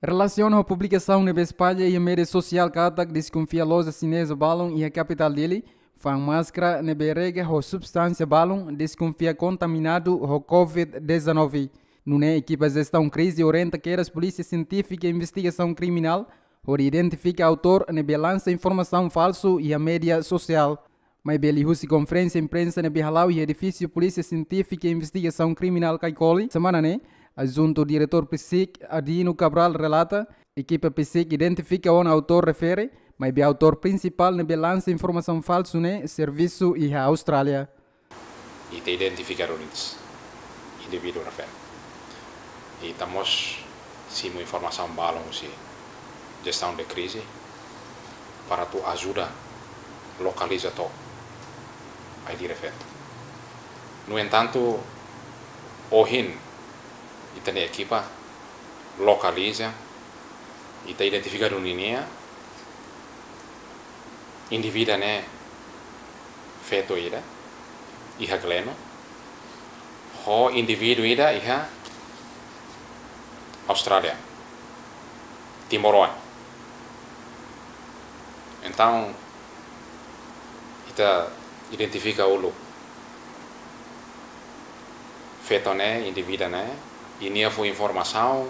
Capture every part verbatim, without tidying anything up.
Relasiona ho publikasaun ne'ebé espalla iha média sosiál katak deskonfia loja xineza balun iha kapitál Dili fa'an máskara ne'ebé rega ho substánsia balun deskonfia kontaminadu ho covid dezanove. Nune'e ekipa jestaun krize orienta kedas Polísia Sientífika Investigasaun Kriminál hodi identifika autór ne'ebé lansa informasaun falsu iha média sosiál. Maibé liuhusi konferénsia imprensa ne'ebé hala'o iha edifísiu Polísia Sientífika Investigasaun Kriminál Caicoli semana ne'e, adjuntu diretór PSIC Adino Cabral relata, ekipa PSIC identifika ona autór refere, maibé autór prinsipál ne'ebé lansa informasaun falsu ne'e servisu iha Austrália. Ita identifika duni indivíduu refere. Ita mós simu informasaun balun husi jestaun de krize para atu ajuda lokaliza to'o ID refere. No entantu, ohin ita-nia ekipa lokaliza, ita identifika duni ninia indivíduu ne'e feto ida iha Gleno, ho indivíduu ida iha Austrália, timoroan. Entaun, ita identifika uluk feto ne'e, indivíduu ne'e, i nia fó informasaun,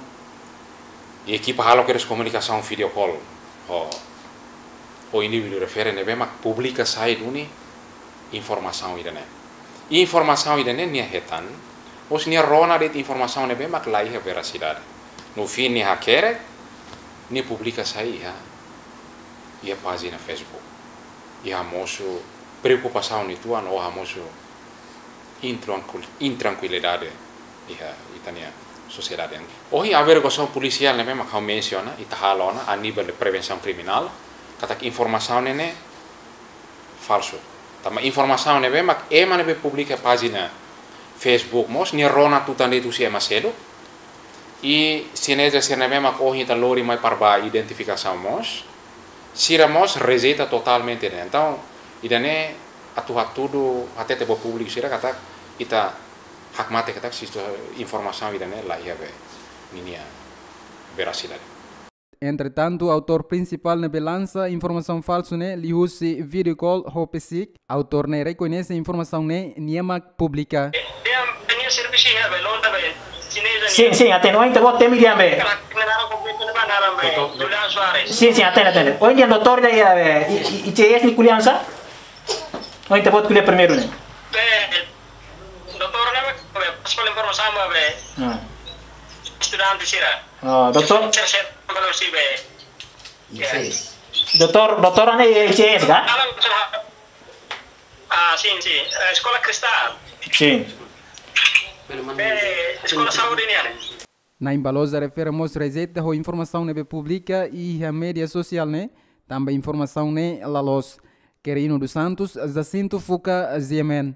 i ekipa halo kedas komunikasaun video call ho, ho indivíduu refere ne'ebé mak publika sai duni informasaun ida-ne'e. I informasaun ida-ne'e nia hetan, mós nia rona de'it informasaun ne'ebé mak la iha verasidade. No fin nia hakerek, nia publika sai iha, iha pájina Facebook. I hamosu preokupasaun uitoan, ou hamosu intrankil-, intrankuilidade iha ita-nia sosiedade. Ohin averiguasaun polisiál ne'ebé mak ha'u mensiona, ita halo ona a nível de prevensaun kriminál, katak informasaun ne'e falsu. Tanba informasaun ne'ebé mak ema ne'ebé publika pájina Facebook mós, nia rona tutan de'it husi ema seluk. I xineza sira ne'ebé mak ohin ita lori mai para ba identifikasaun mós, sira mós rejeita totalmente ne'e. Entaun, ida-ne'e atu hatudu hatete ba públiku sira katak ita hakmatek katak sistu informasaun ida-ne'e la iha be ninia verasidade. Entretantu, autór prinsipál ne'ebé lansa informasaun falsu ne'e liuhusi video call ho PSIC, autór ne'e rekoñese informasaun ne'e nia mak publika. Sin, sin, atende. Ohin ita-boot temi di'ak be. Sin, sin, atende, atende. Ohin di'ak doutór ida iha be, I-, I-, ICS nia ko'alia oinsá? Ohin ita-boot ko'alia primeiru ne'e. Be, doutór ne'e be, be, pas informasaun ba be. Ah. Estudante sira. Oh, doutór? Doutór, doutór ne'e ICS ka? Ah, sin, sin. Eh, Eskola Kristál. Sin. Eh, Eskola Saúde nian. Na'in ba loja refere mós rejeita ho informasaun ne'ebé publika iha média sosiál ne'e, tanba informasaun ne'e la loos. Querino dos Santos, Jacinto Fuca, G M N.